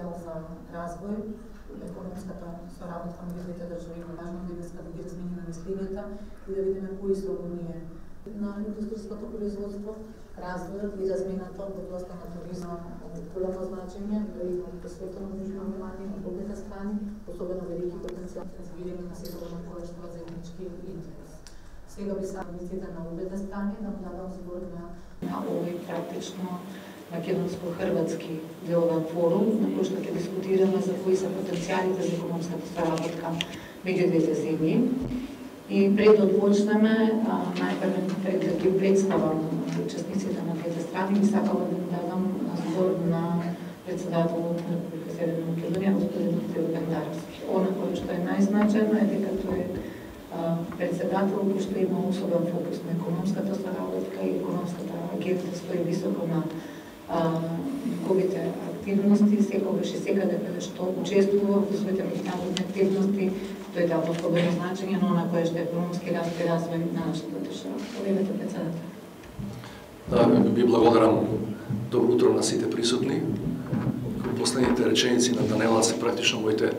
потенцијал за развој, економската соработка меѓу двете држави е важно да ги размениме мисливата и да видиме кои се оние на индустријското производство, развојот и размената од областта на туризам од големо значење, да има посветено нужно внимание од обете страни, особено велики потенцијал да видиме на секој кој што е заеднички интерес. Сега би саветите на обете страни да дадам збор на овој практично македонско-хрватски деловен форум, на кој што ќе дискутираме за кои се потенцијалите за економската соработка меѓу двете земји. И пред да почнеме, најпрво пред да ги представам учесниците на двете страни, би сакала да дадам збор на председателот на Република Северна Македонија, господин Теодор Даревски. Она кој што е најзначајно е дека тој е председател кој што има особен фокус на економската соработка и економската агенда стои високо на неговите активности, секогаш и секаде каде што учествува во своите меѓународни активности, тој дава особено значење на она кое што е економски раст и развој на нашата држава. Повелете, председател. Да, ви благодарам. Добро утро на сите присутни. Последните реченици на Данела се практично моите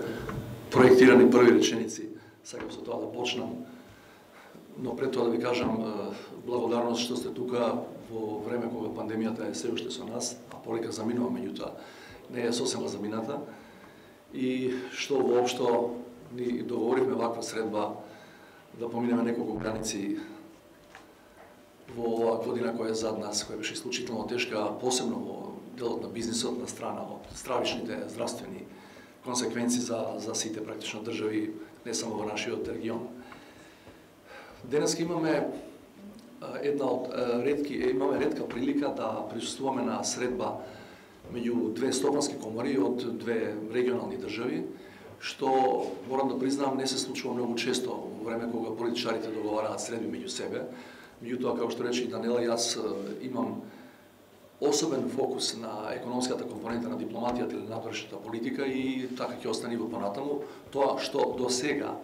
проектирани први реченици. Сакам со тоа да почнам. Но пред тоа да ви кажам благодарност што сте тука во време кога пандемијата е се уште со нас, а полека заминува, меѓутоа не е сосема замината, и што воопшто ни договоривме ваква средба да поминеме неколку граници во оваа година која е зад нас, која беше исклучително тешка, посебно во делот на бизнисот, на страна од стравичните здравствени консеквенции за сите практично држави, не само во нашиот регион. Денеска имаме ретка прилика да присуствуваме на средба меѓу две стопански комори од две регионални држави, што, морам да признам, не се случува многу често во време кога политичарите договараат средби меѓу себе. Меѓутоа, како што рече и Данела, јас имам особен фокус на економската компонента на дипломатијата или надворешната политика и така ќе остане во понатаму. Тоа што до сега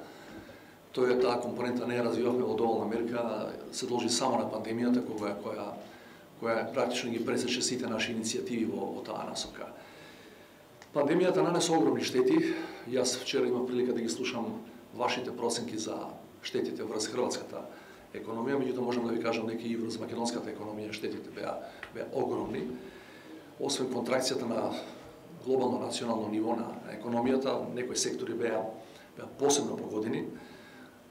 таа компонента не ја развивавме во доволна мерка, се должи само на пандемијата која практично ги пресече сите наши иницијативи во таа насока. Пандемијата нанесе огромни штети. Јас вчера имав прилика да ги слушам вашите проценки за штетите врз хрватската економија, меѓутоа можам да ви кажам дека и врз македонската економија штетите беа огромни. Освен контракцијата на глобално национално ниво на економијата, некои сектори беа посебно погодени.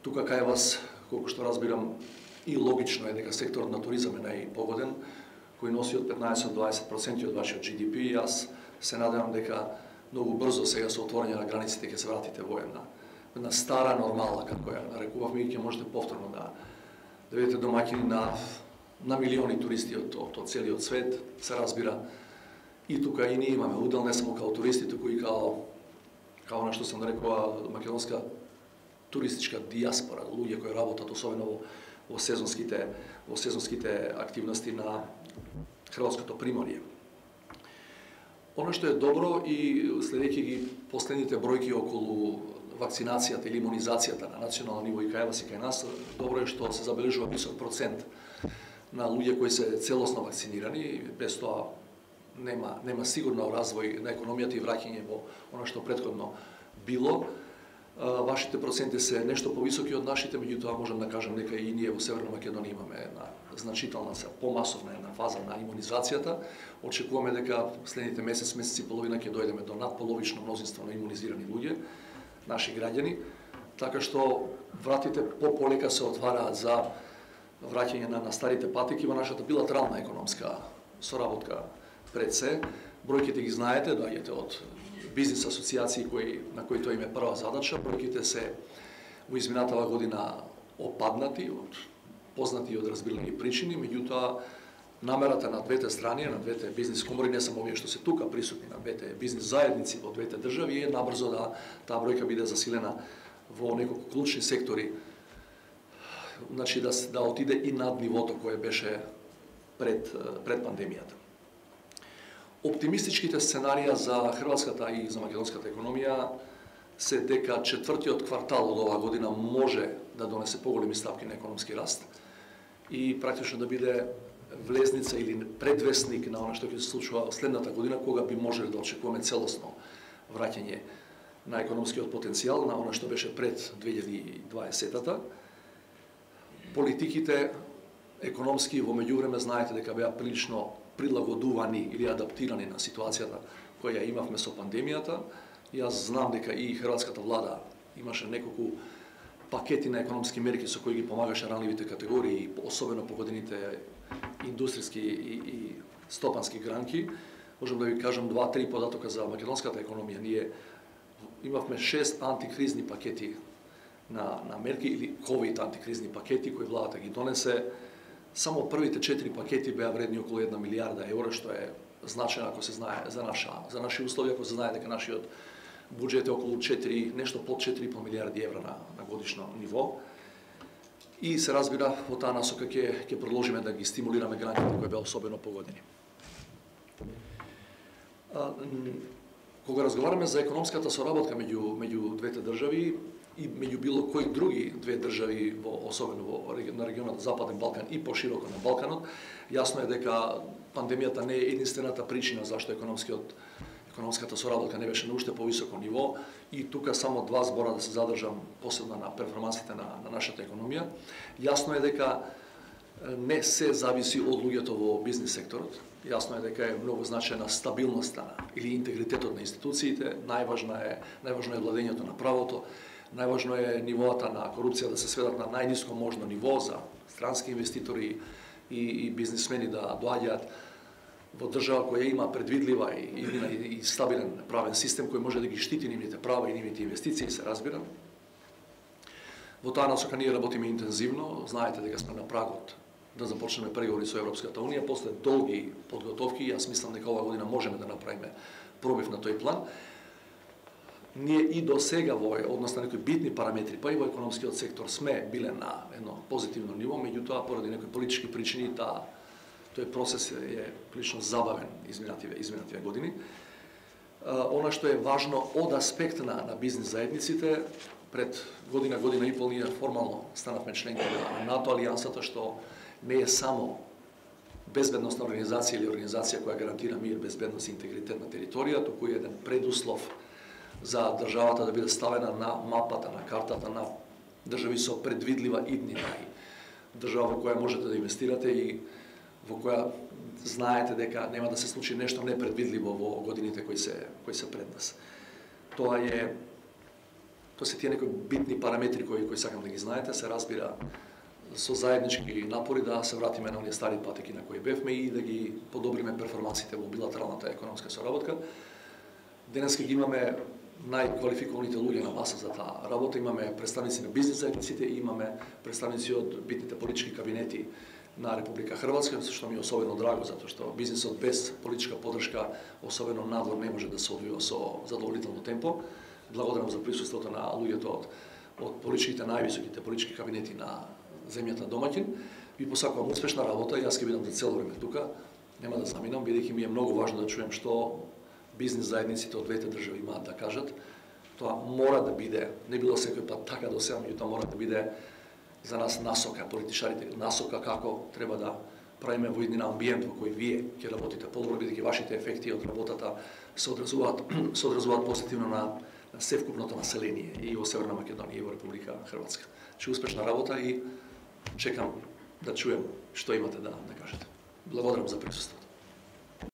Тука кај вас, колку што разбирам, и логично е дека секторот на туризам е најпогоден, кој носи од 15 до 20% од вашиот GDP. Јас се надевам дека многу брзо сега со отворање на границите ќе се вратите во една стара нормала, како ја нарекувавме, и ќе можете повторно да бидете домаќини на милиони туристи од целиот свет, се разбира. И тука и ние имаме удел, не само као туристи, туку и као она што се нарекува македонска туристичка диаспора, луѓе кои работат особено во сезонските активности на хрватското приморје. Оно што е добро, и следејќи ги последните бројки околу вакцинацијата или имунизацијата на национално ниво и кај вас и кај нас, добро е што се забележува висок процент на луѓе кои се целосно вакцинирани. Без тоа нема сигурно развој на економијата и враќање во она што претходно било. Вашите проценти се нешто повисоки од нашите, меѓутоа можам да кажам дека и ние во Северна Македонија имаме една значителна, помасовна една фаза на имунизацијата. Очекуваме дека следните месец и половина ќе дојдеме до надполовично мнозинство на имунизирани луѓе, наши граѓани, така што вратите полека се отвараат за враќање на старите патеки во нашата билатерална економска соработка пред се. Бројките ги знаете, доаѓате од бизнис асоциации на кои тоа им е прва задача. Бројките се во изминатава година опаднати од познати и од разбирани причини, меѓутоа намерата на двете страни, на двете бизнис комори, не само овие што се тука присутни, на двете бизнис заедници во двете држави, е набрзо да таа бројка биде засилена во неколку клучни сектори, значи да отиде и над нивото кое беше пред пандемијата. Оптимистичките сценарија за хрватската и за македонската економија се дека четвртиот квартал од оваа година може да донесе поголеми стапки на економски раст и практично да биде влезница или предвестник на она што ќе се случува следната година, кога би можеле да очекуваме целосно враќање на економскиот потенцијал, на она што беше пред 2020-та. Политиките економски во меѓувреме знаете дека беа прилично прилагодувани или адаптирани на ситуацијата која имавме со пандемијата. Јас знам дека и хрватската влада имаше неколку пакети на економски мерки со кои ги помагаше ранливите категории, особено погодените индустријски и стопански гранки. Можам да ви кажам 2-3 податока за македонската економија. Ние имавме 6 антикризни пакети на мерки или ковид антикризни пакети кои владата ги донесе. Само првите 4 пакети беа вредни околу 1 милијарда евра, што е значено ако се знае за наши услови, ако се знае дека нашиот буџет е околу 4, нешто под 4,5 милијарди евра на годишно ниво. И се разбира во таа насока ќе продолжиме да ги стимулираме граѓаните кои беа особено погодени. Кога разговараме за економската соработка меѓу двете држави и меѓу било кои други две држави, особено на регионот Западен Балкан и пошироко на Балканот, јасно е дека пандемијата не е единствената причина зашто економската соработка не беше на уште повисоко ниво, и тука само 2 збора да се задржам посебно на перформансите на нашата економија. Јасно е дека не се зависи од луѓето во бизнис секторот. Јасно е дека е многу значајна стабилноста или интегритетот на институциите, најважно е владењето на правото, најважно е нивоата на корупција да се сведат на најниско можно ниво за странски инвеститори и бизнисмени да доаѓаат во држава која има предвидлива и стабилен правен систем кој може да ги штити нивните права и нивните инвестиции, се разбира. Во таа насока ние работиме интензивно, знаете дека сме на прагот да започнеме преговори со Европската унија после долги подготовки. Јас мислам дека оваа година можеме да направиме пробив на тој план. Ние и до сега во однос на некои битни параметри, па и во економскиот сектор сме биле на едно позитивно ниво, меѓутоа поради некои политички причини тој процес е прилично забавен изминативе години. Она што е важно од аспект на бизнис заедниците, пред година и пол ние формално станавме членки на НАТО алијансата, што не е само безбедносна организација или организација која гарантира мир, безбедност и интегритет на територија, туку е еден предуслов за државата да биде ставена на мапата, на картата на држави со предвидлива иднина, држава во која можете да инвестирате и во која знаете дека нема да се случи нешто непредвидливо во годините кои се пред нас. Тоа се тие некои битни параметри кои сакам да ги знаете, се разбира со заеднички напори да се вратиме на оние стари патеки на кои бевме и да ги подобриме перформансите во билатералната економска соработка. Денеска ги имаме најквалификованите луѓе на маса за таа работа. Имаме представници на бизнис заедниците и имаме представници од битните политички кабинети на Република Хрватска, што ми е особено драго, затоа што бизнисот без политичка поддршка, особено надвор, не може да се одвива со задоволително темпо. Благодарам за присуството на луѓето од политичките највисоките политички кабинети на земјата домаќин. Ви посакувам успешна работа, јас ќе бидам за цело време тука, нема да заминам, бидејќи ми е многу важно да чуем што бизнис заедниците од двете држави имаат да кажат. Тоа мора да биде, не било секој пат така до сега, меѓутоа мора да биде за нас насока, политичарите, насока како треба да правиме во еден амбиент во кој вие ќе работите подобро, бидејќи вашите ефекти од работата се одразуваат позитивно на севкупното население и во Северна Македонија и во Република Хрватска. Успешна работа и чекам да чуем што имате да кажете. Благодарам за присуството.